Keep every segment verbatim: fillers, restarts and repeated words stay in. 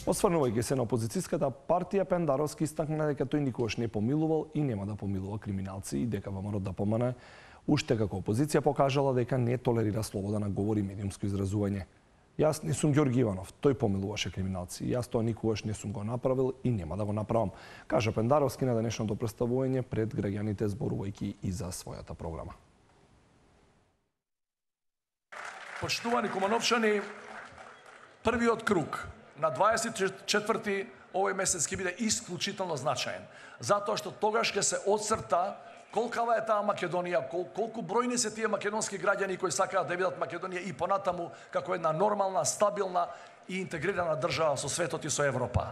Осврнувајќи се на опозицијската партија, Пендаровски истакна дека тој никогаш не помилувал и нема да помилува криминалци и дека ВМРО да помане уште како опозиција покажала дека не толерира слобода на говор и медиумско изразување. Јас не сум Ѓорги Иванов, тој помилуваше криминалци. Јас тоа никогаш не сум го направил и нема да го направам, кажа Пендаровски на денешното представување пред граѓаните зборувајќи и за својата програма. Почитувани кумановчани, првиот круг на дваесет и четврти овој месец ќе биде исклучително значаен, затоа што тогаш ќе се отцрта колкава е таа Македонија, кол, колку бројни се тие македонски граѓани кои сакаат да видат Македонија и понатаму како една нормална, стабилна и интегрирана држава со светот и со Европа.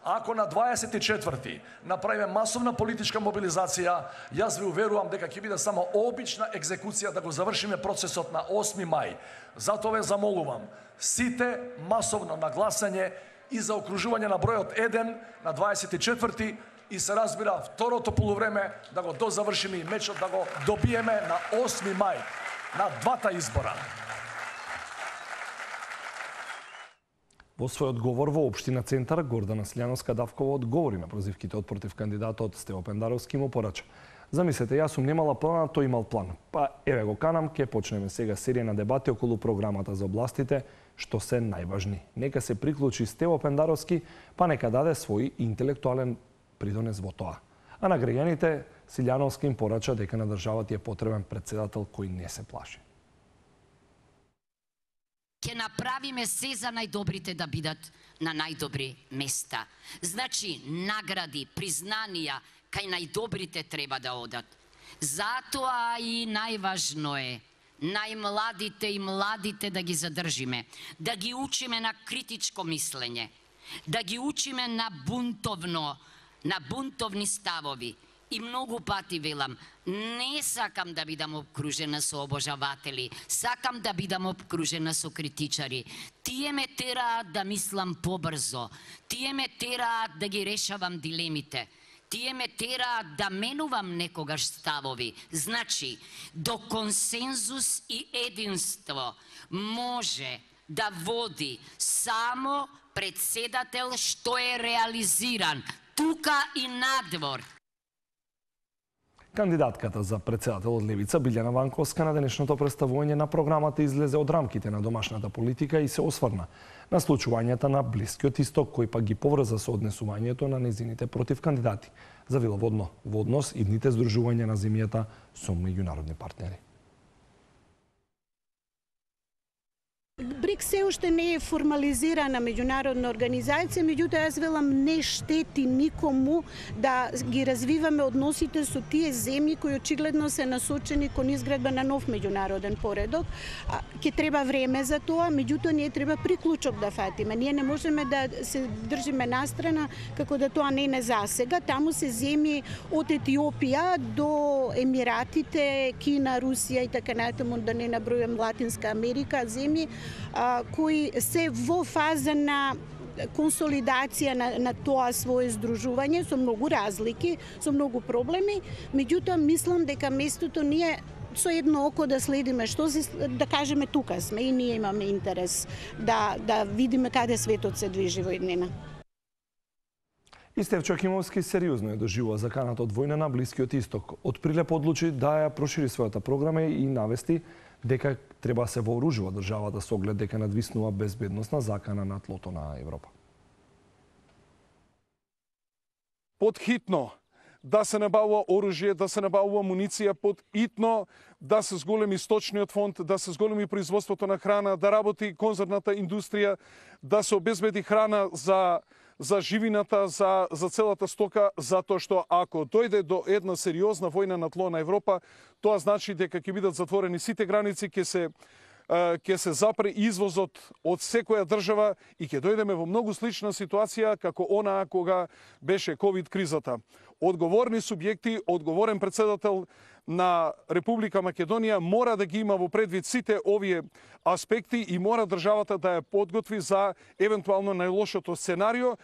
Ако на дваесет и четврти направиме масовна политичка мобилизација, јас ви уверувам дека ќе биде само обична екзекуција да го завршиме процесот на осми мај. Затоа ве замолувам, сите масовно на гласање и за окружување на бројот еден на дваесет и четврти и се разбира второто полувреме да го дозавршиме и мечот да го добиеме на осми мај на двата избора. Во свој одговор во Општина Центар, Гордана Слјановска Давкова одговори на прозивките од против кандидатот Стево Пендаровски му порача. Замислете, јас сум немала план, а тој имал план. Па еве го канам, ке почнеме сега серија на дебати околу програмата за областите, што се најважни. Нека се приклучи Стево Пендаровски, па нека даде свој интелектуален придонес во тоа. А на граѓаните Силјановски им порача дека на државата е потребен председател кој не се плаши. Ќе направиме се за најдобрите да бидат на најдобри места. Значи, награди, признанија кај најдобрите треба да одат. Затоа и најважно е најмладите и младите да ги задржиме, да ги учиме на критичко мислење, да ги учиме на бунтовно, на бунтовни ставови. И многу пати велам, не сакам да бидам обкружена со обожаватели, сакам да бидам обкружена со критичари. Тие ме тераат да мислам побрзо, тие ме тераат да ги решавам дилемите, тие ме тераат да менувам некогаш ставови. Значи, до консензус и единство може да води само председател што е реализиран, тука и надвор. Кандидатката за председател од Левица, Билјана Ванковска, на денешното представување на програмата излезе од рамките на домашната политика и се осврна на случувањата на Блискиот Исток, кој пак ги поврза со однесувањето на незините против кандидати. Завила водно во однос идните здружувања на земјата со меѓународни партнери. БРИКС се уште не е формализирана меѓународна организација, меѓутоа јас велам не штети никому да ги развиваме односите со тие земји кои очигледно се насочени кон изградба на нов меѓународен поредок. Ќе треба време за тоа, меѓутоа ние треба приклучок да фатиме. Ние не можеме да се држиме настрана како да тоа не е засега. Таму се земји од Етиопија до Емиратите, Кина, Русија и така натаму, да не набројам Латинска Америка, земји кои се во фаза на консолидација на, на тоа свое здружување со многу разлики, со многу проблеми, меѓутоа мислам дека местото ние со едно око да следиме што се, да кажеме тука сме и ние имаме интерес да, да видиме каде светот се движи во еднина. И Стефчо Акимовски сериозно е доживува заканата од војна на Блискиот Исток. Од прилеп одлучи да ја прошири својата програма и навести дека треба да се вооружува државата со оглед дека надвиснува безбедносна закана на тлото на Европа. Подхитно да се набавува оружје, да се набавува муниција, подхитно да се зголеми сточниот фонд, да се зголеми производството на храна, да работи конзервната индустрија, да се обезбеди храна за за живината, за, за целата стока, затоа што ако дојде до една сериозна војна на тло на Европа, тоа значи дека ќе бидат затворени сите граници, ќе се ќе се запре извозот од секоја држава и ќе дојдеме во многу слична ситуација како онаа кога беше ковид кризата. Одговорни субјекти, одговорен председател на Република Македонија мора да ги има во предвид сите овие аспекти и мора државата да ја подготви за евентуално најлошото сценарио.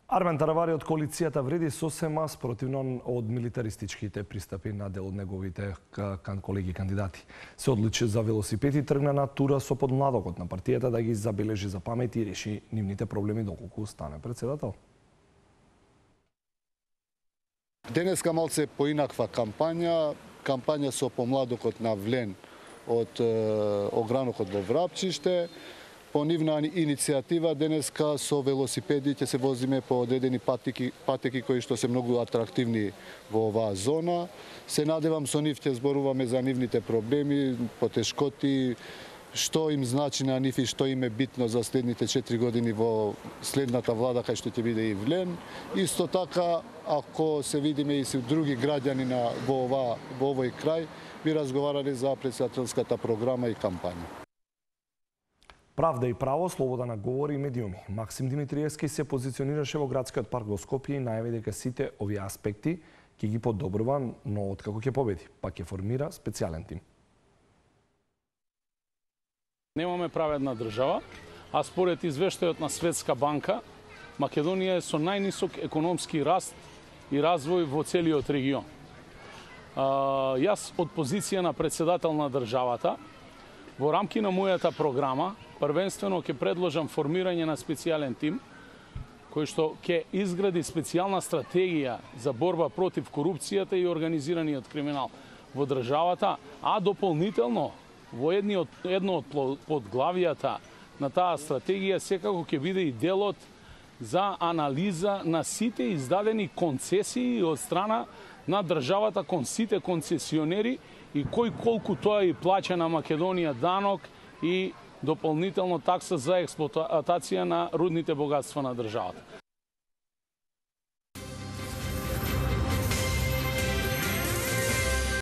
Армен Таравари од коалицијата вреди сосема спротивно од милитаристичките пристапи на дел од неговите колеги кандидати. Се одличи за велосипед и тргна на тура со подмладокот на партијата да ги забележи за памет и реши нивните проблеми доколку стане председател. Денеска малце поинаква кампања, кампања со помладокот на Влен од огранокот во Врапчиште. По нивна иницијатива денеска со велосипеди ќе се возиме по одредени патеки, патеки кои што се многу атрактивни во оваа зона. Се надевам со нив ќе зборуваме за нивните проблеми, потешкоти, што им значи на нив и што им е битно за следните четири години во следната влада кај што ќе биде и Влен. Исто така, ако се видиме и со други граѓани на во ова во овој крај, би разговарале за председателската програма и кампања. Правда и право, слобода на говори и медиуми. Максим Димитриевски се позиционираше во градскиот парк во Скопје и најави дека сите овие аспекти ќе ги подобрува, но откако ќе победи, па ќе формира специјален тим. Немаме праведна држава, а според извештајот на Светска банка, Македонија е со најнисок економски раст и развој во целиот регион. А, јас од позиција на председател на државата, во рамки на мојата програма, првенствено ќе предложам формирање на специјален тим, кој што ќе изгради специјална стратегија за борба против корупцијата и организираниот криминал во државата, а дополнително во едни од, едно од подглавијата на таа стратегија секако ќе биде и делот за анализа на сите издадени концесии од страна на државата кон сите концесионери и кој колку тоа и плаќа на Македонија данок и дополнително такса за експлоатација на рудните богатства на државата.